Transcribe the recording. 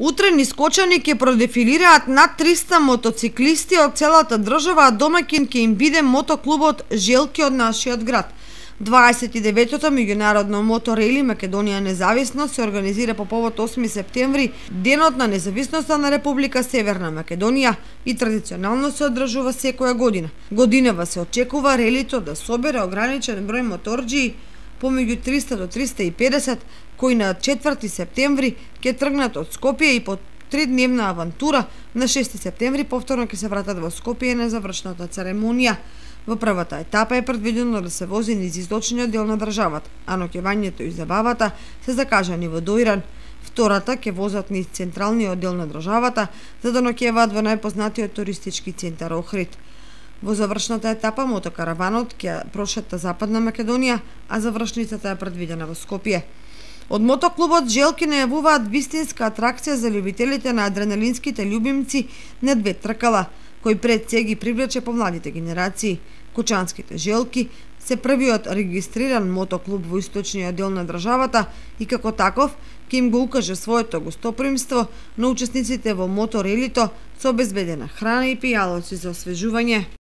Утре нискочани ќе продефилираат над 300 мотоциклисти од целата држава, а домаќин ќе им биде мотоклубот Желки од нашиот град. 29-тото меѓународно моторели Македонија независно се организира по повод 8 септември, денот на независноста на Република Северна Македонија, и традиционално се одржува секоја година. Годинава се очекува релито да собере ограничен број моторџии, помеѓу 300 до 350, кои на 4 септември ќе тргнат од Скопје и по 3-дневна авантура на 6 септември повторно ќе се вратат во Скопје на завршната церемонија. Во првата етапа е предвидено да се вози низ источниот дел на државата, а ноќевањето и забавата се закажани во Доиран. Втората ќе возат низ централниот дел на државата, за да ноќеваат во најпознатиот туристички центар Охрид. Во завршната етапа мотокараванот ќе прошета Западна Македонија, а завршницата е предвидена во Скопје. Од мотоклубот Желки најавуваат вистинска атракција за љубителите на адреналинските љубимци на две тркала, кој пред се ги привлече помладите генерации. Кучанските Желки се првиот регистриран мотоклуб во источниот дел на државата и како таков ќе им го укаже своето гостопримство на учесниците во моторелито со обезбедена храна и пијалоци за освежување.